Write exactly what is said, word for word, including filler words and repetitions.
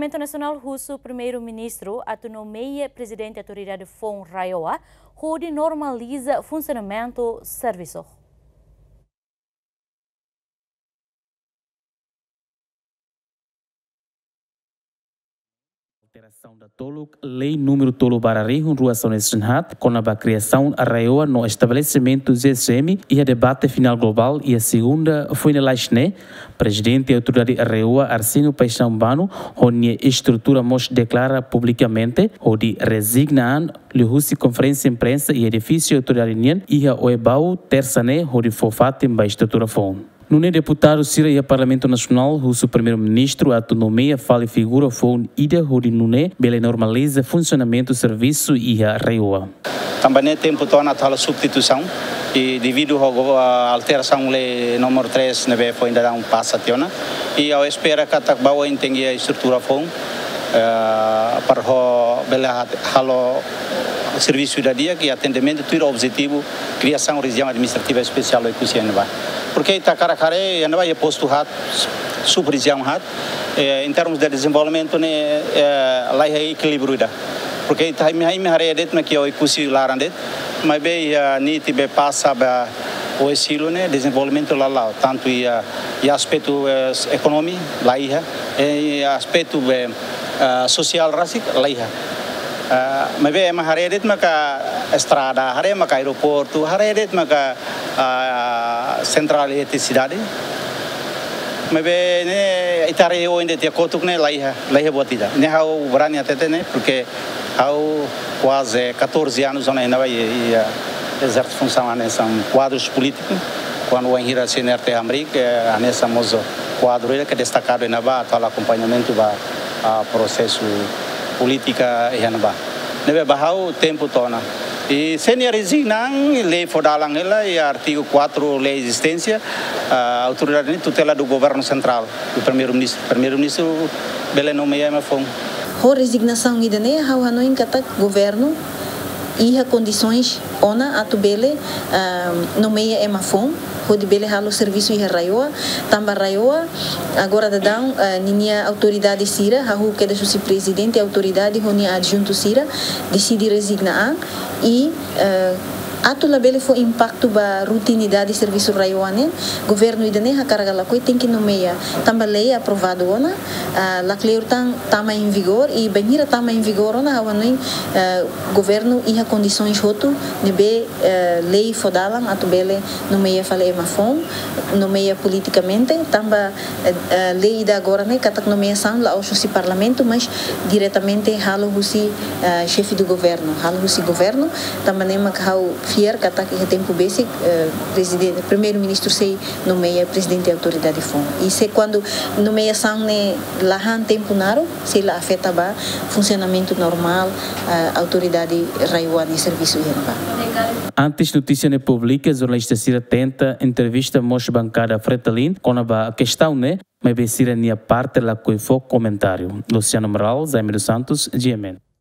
Parlamentu Nasionál husu Primeiru-Ministru atu nomeia Prezidente Autoridade Foun RAEOA hodi normaliza funsionamentu servisu. Alterasaun datoluk Lei númeru tolu barra rihun rua sanulu resin haat, kona-ba kriasaun RAEOA no estabelesimentu GSM iha debate finál globál iha segunda foin lalais ne'e, Prezidente Autoridade RAEOA Arsénio Paixão Bano ho nia estrutura mós deklara publikamente hodi rezigna an liuhusi konferénsia imprensa iha edifísiu autoridade nian iha Oebau, tersa ne'e, hodi fó fatin ba estrutura foun. Nune'e deputadu sira iha Parlamentu Nasionál husu Primeiru-Ministru atu nomeia fali figura foun ida hodi nune'e bele normaliza funsionamentu servisu iha RAEOA. Tanba ne'e tempu to'o ona atu halo substituisaun, i devidu ho go-, a, alterasaun lei númeru três ne'ebé foin daudaun pasa tiha ona. I ha'u espera katak ba oin tenke iha estrutura foun, eh, para ho bele ha-, halo servisu ida di'ak i atendimentu tuir objetivu kriasaun rejiaun administrativa espesiál Oekusi iha ne'ebá. Porke ita hakarak haree iha ne'ebá iha postu haat, sub-rejiaun haat, eh, em termos de dezenvolvimentu ne'e, eh, laiha ekilíbriu ida. Porke ita, imi, imi haree de'it mak iha Oekusi laran de'it, maibé iha NIT be pasa ba Oesilo ne'e dezenvolvimentu la la'o, tantu iha, iha aspetu, eh, ekonomi laiha, eh, iha aspetu be, eh, sosiál rasik laiha. Eh, maibé ema haree de'it maka estrada, haree maka aeroportu, haree de'it maka, ah, sentrál eletrisidade. Maibé ne'e ita haree oin de'it iha kotuk ne'e laiha, laiha buat ida. Ne'e ha'u brani hatete ne'e, porke ha'u kuaze catorze anos ona iha ne'ebá i, i, ah, ezerse funsaun hanesan kuadru polítiku. Kuandu wainhira CNRT hamriik, eh, hanesan mós kuadru ida ke destakadu iha ne'ebá atu halo akompañamentu ba, ah, prosesu polítika iha ne'ebá. Ne'ebé ba ha'u tempu to'o ona. I se nia rezigna an, lei fó dalan hela, iha artigu quatro lei ezisténsia, ah, autoridade ne'e tutela do governo central, do primeiru-ministru. Primeiru-ministru bele nomeia ema foun. Ho rezignasaun ida-ne'e, ha'u hanoin katak governu iha kondisoens ona atu bele, ah, nomeia ema foun hodi bele halo servisu iha RAEOA, tanba RAEOA agora daudaun, ah, ninia autoridade sira, hahú kedas husi prezidente autoridade ho nia adjuntu sira, deside rezigna an i, eh, atu labele fó impaktu ba rutinidade servisu RAEOA nian, governu ida-ne'e hakarak ka lakohi tenke nomeia, tanba lei aprovadu ona, ah, lakleur tan tama em vigor, i bainhira tama em vigor ona, ha'u hanoin, eh, governu iha kondisoens hotu ne'ebé, eh, lei fó dalan atu bele nomeia fali ema foun, nomeia politikamente, tanba, eh, eh, lei ida agora ne'e katak nomeasaun la'ós husi parlamentu, mas diretamente halo husi, eh, xefe do governo, halo husi governu, tanba ne'e mak ha'u fiar katak iha tempu besik, eh, prezidente, primeiru-ministru sei nomeia prezidente autoridade foun. I se kuandu nomeasaun ne'e la han tempu naruk, sei la afeta ba funsionamentu normál, eh, autoridade RAEOA nia servisu iha ne'ebá. Antes notísia ne'e publika, jornalista sira tenta entrevista mós bankada Fretilin kona-ba kestaun ne'e, maibé sira-nia parte lakohi fó komentáriu. Luciano Amaral, Jaime dos Santos, GMN.